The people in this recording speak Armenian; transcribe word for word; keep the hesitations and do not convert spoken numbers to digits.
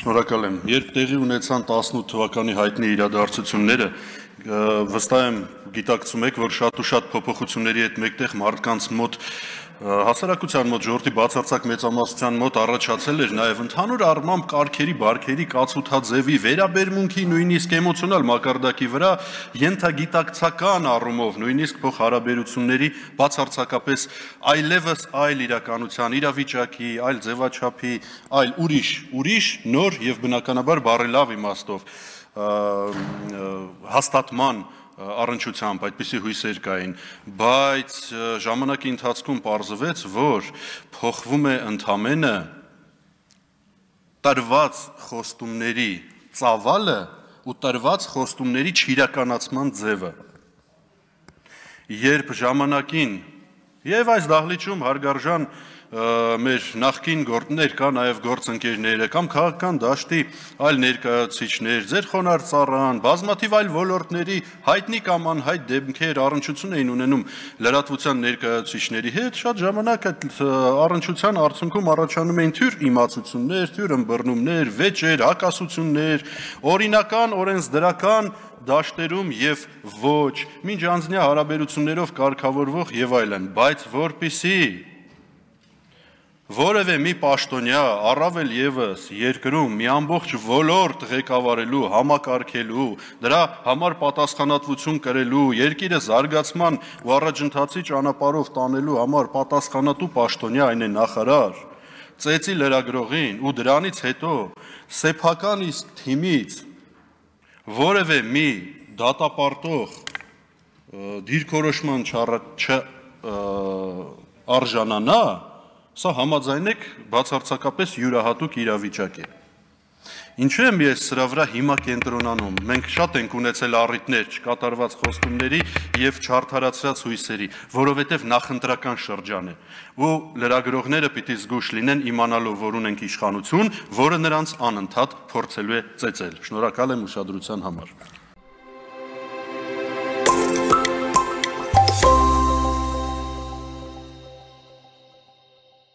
Շնորհակալ եմ։ Երբ տեղի ունեցան տասնութ թվականի հայտնի իրադարձությունները, վստահ եմ գիտակցում եք, որ շատ ու շատ փոփոխությունների հետ մեկտեղ մարդկանց մոտ հասարակության մոտ ժողովրդի բացարձակ մեծամասնության մոտ առաջացել էր նաև ընդհանուր առմամբ կարգերի, բարքերի, կացութաձևի, վերաբերմունքի, նույնիսկ էմոցիոնալ մակարդակի վրա ենթագիտակցական առումով, նույնիսկ փոխհարաբերությունների բացարձակապես այլևս այլ իրականության, իրավիճակի, այլ ձևաչափի, այլ ուրիշ, ուրիշ, նոր եւ բնականաբար բարելավ իմաստով հաստատման առնչությամբ այդպիսի հույսեր կային, բայց ժամանակի ընթացքում պարզվեց, որ փոխվում է ընդամենը տրված խոստումների ծավալը ու տրված խոստումների չիրականացման ձևը։ Երբ ժամանակին եւ այս դահլիճում հարգարժան մեր նախկին ներկա նաև գործընկերները կամ քաղաքական դաշտի այլ ներկայացուցիչներ, ձեր խոնարհ ծառան, բազմաթիվ այլ ոլորտների հայտնի կամ անհայտ դեմքեր առնչություն էին ունենում լրատվության ներկայացուցիչների հետ, շատ ժամանակ այդ առնչության արդյունքում առաջանում էին թյուր իմացություններ, թյուր ըմբռնումներ, վեճեր, հակասություններ, օրինական, օրենսդրական դաշտերում եւ ոչ, մինչ անձնյա հարաբերություններով կարգավորվող եւ այլն, բայց որպիսի որևէ մի պաշտոնյա առավել եւս երկրում մի ամբողջ ոլորտ ղեկավարելու, համակարգելու, դրա համար պատասխանատվություն կրելու, երկիրը զարգացման ու առաջընթացի ճանապարհով տանելու համար պատասխանատու պաշտոնյա, այն է նախարար, ծեծի լրագրողին ու դրանից հետո սեփական իսկ թիմից որևէ մի դատապարտող դիրքորոշման չարժանանա, սա համաձայնեք բացարձակապես յուրահատուկ իրավիճակ է։ Ինչու եմ ես սրա վրա հիմա կենտրոնանում։ Մենք շատ ենք ունեցել առիթներ չկատարված խոստումների եւ չարդարացրած հույսերի, որովհետեւ նախընտրական շրջան է, ու լրագրողները պիտի զգուշ լինեն իմանալով, որ ունենք իշխանություն, որը նրանց անընդհատ փորձելու է ծեծել։ Շնորհակալ եմ ուշադրության համար։